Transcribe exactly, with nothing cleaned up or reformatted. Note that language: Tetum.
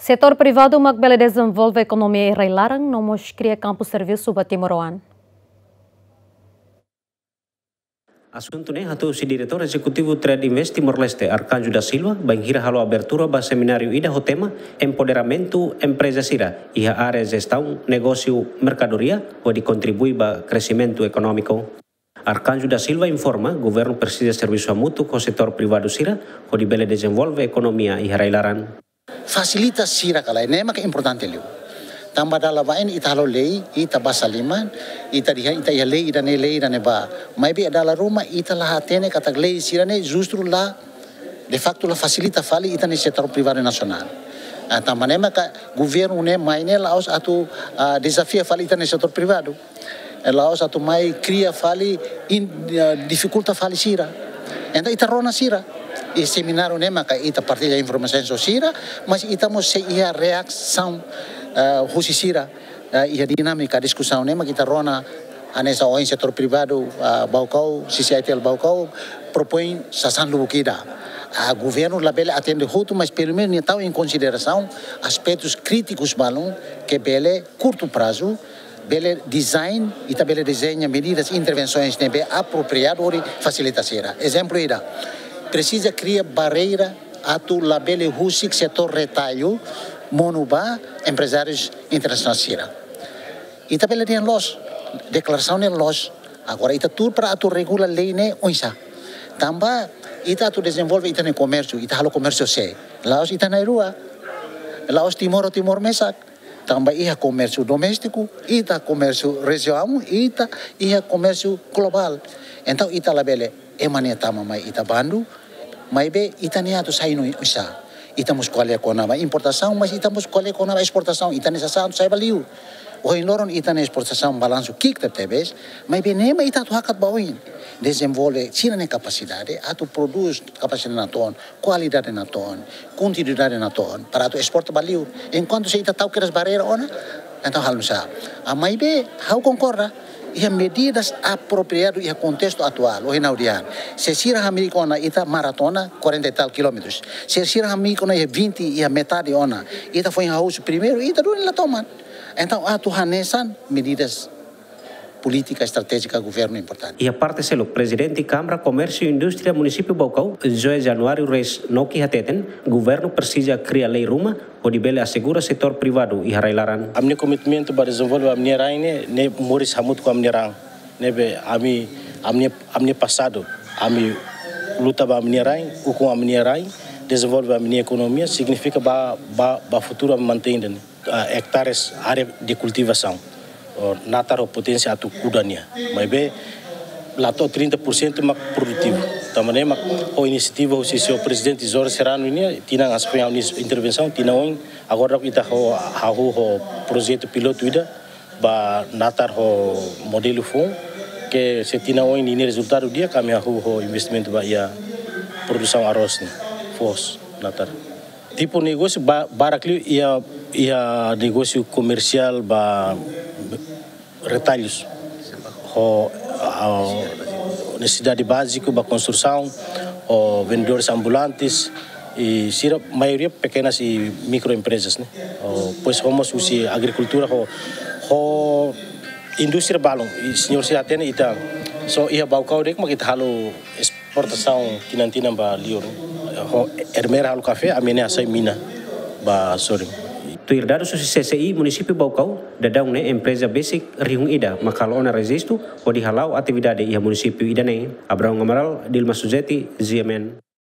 Setór privadu mak bele dezenvolve ekonomia iha rai-laran no mós kria kampu servisu ba timoroan. Asuntu ne'e hato'o husi Diretór Ezekutivu Trade Invest Timor-Leste, Arcanjo da Silva, bainhira halo abertura ba semináriu ida ho tema Empoderamentu Empreza Sira iha Área Jestaun Negósiu Merkadoria, hodi kontribui ba kresimentu ekonómiku. Arcanjo da Silva informa, governu presiza servisu hamutuk ho setór privadu sira, hodi bele dezenvolve ekonomia iha rai-laran. Fasilita sira ka lae, ne'e maka importante liu. Tanba dala bain ita halo lei, ita basa liman, ita diha, ita iha lei ida-ne'e, lei ida-ne'ebá. Maibé dala ruma ita la hatene katak lei sira-ne'e justru la, de facto la fasilita fali ita-nia setór privadu nasionál. Ah, tanba ne'e maka governu ne'e mai ne'e la'ós atu, ah, dezafia fali ita-nia setór privadu. Eh, la'ós atu mai kria fali in-, eh, difikulta fali sira. Entaun ita rona sira. Iha semináriu ne'e maka ita partilla informasaun ho sira, mas ita mós sei iha reasaun, eh, husi sira, eh, iha dinámika diskusaun ne'e maka ita rona hanesan ohin setór privadu, eh, Baucau, C C I T L Baucau, propoin sasán lubuk ida. Ah, governu labele atende hotu, mas pelumenus nia tau em konsiderasaun aspetus krítikus balun ke bele kurtu prazu, bele design, ita bele dezeña medidas, intervensoens ne'ebé apropriadu hodi fasilita sira. Ezemplu ida, presiza kria barreira atu labele husik setór retallu monu ba emprezárius internasionál sira. Ita bele dehan loos, deklarasaun ne'e loos. Agora ita tuur para atu regula lei ne'e oinsá. Tanba ita atu dezenvolve ita-nia komérsiu, ita halo komérsiu sé? La'ós ita na'in-rua. La'ós Timor ho Timor mesak. Tanba iha komérsiu doméstiku, ita komérsiu rejionál, ita iha komérsiu globál. Entaun ita labele ema ne'e tama mai ita bandu, maibé ita-nia atu sai no oinsá. Ita mós ko'alia kona-ba importasaun, mas ita mós ko'alia kona-ba esportasaun, ita-nia sasán atu sai ba liur. Ohin loron ita-nia esportasaun balansu ki'ik tebetebes, maibé ne'e mak ita atu hakat ba oin. Dezenvolve sira-nia kapasidade atu prodús, kapasidade natoon, kualidade natoon, kontinuidade natoon, para atu esporta ba liur. Enkuantu se ita tau kedas barreira ona, entaun halo nusá? Ah, maibé ha'u konkorda, iha medidas apropriadu iha kontestu atuál, ohin ha'u dehan. Se sira hamriik ona ita maratona, quarenta e tal quilómetros. Se sira hamriik ona iha vinte, iha metade ona, ita foin hahú husi primeiru, ita duni la toman. Entaun atu hanesan medidas polítika estratéjika governu importante. Iha parte seluk, Prezidente Kámara Komérsiu Indústria Munisípiu Baucau, José Januário Reis Noki hateten, governu presiza kria lei ruma hodi bele asegura setór privadu iha rai-laran. Ami-nia komitmentu ba dezenvolve ami-nia rain ne'e, ne'e moris hamutuk ho ami-nia rain. Ne'ebé ami, ami-nia, ami-nia pasadu, ami luta ba ami-nia rain, ukun ami-nia rain, dezenvolve ami-nia ekonomia, signifika ba, ba, ba futuru ami mantein ida-ne'e, ah, ektares área de kultivasaun, oh, natar ho poténsia atu kuda nia. Maibé la to'o trinta por cento mak produtivu. Tanba ne'e mak ho inisiativa husi señór Prezidente Jorge Serrano nian, tinan hanesan foin ha'u-nia intervensaun, tinan oin, agora ita ho, hahú ho projetu pilotu ida ba natar ho modelu foun, ke se tinan oin ninia rezultadu di'ak, ami hahú ho investimentu ba iha produsaun arroz ne'e, foos, natar. Tipu negósiu ba-, barak liu iha, iha negósiu komersiál ba retallus. Ho, ah, nesesidade báziku ba konstrusaun, ho vendedores ambulantes, i sira maioria pekenas i mikroemprezas, ne'e. Ho, depois ho mós husi agrikultura, ho, ho indústria balun. I señór sira hatene ita, só iha Baucau de'it mak ita halo esportasaun tinan-tinan ba liur. Ho Ermera halo kafé, ami ne'e hasai mina ba sorin. Tuir dadus husi C C I Munisípiu Baucau, daudaun ne'e empreza besik rihun ida mak halo ona rejistu hodi hala'o atividade iha munisípiu ida-ne'e. Abraão Amaral, Dilma Suzeti, G M N.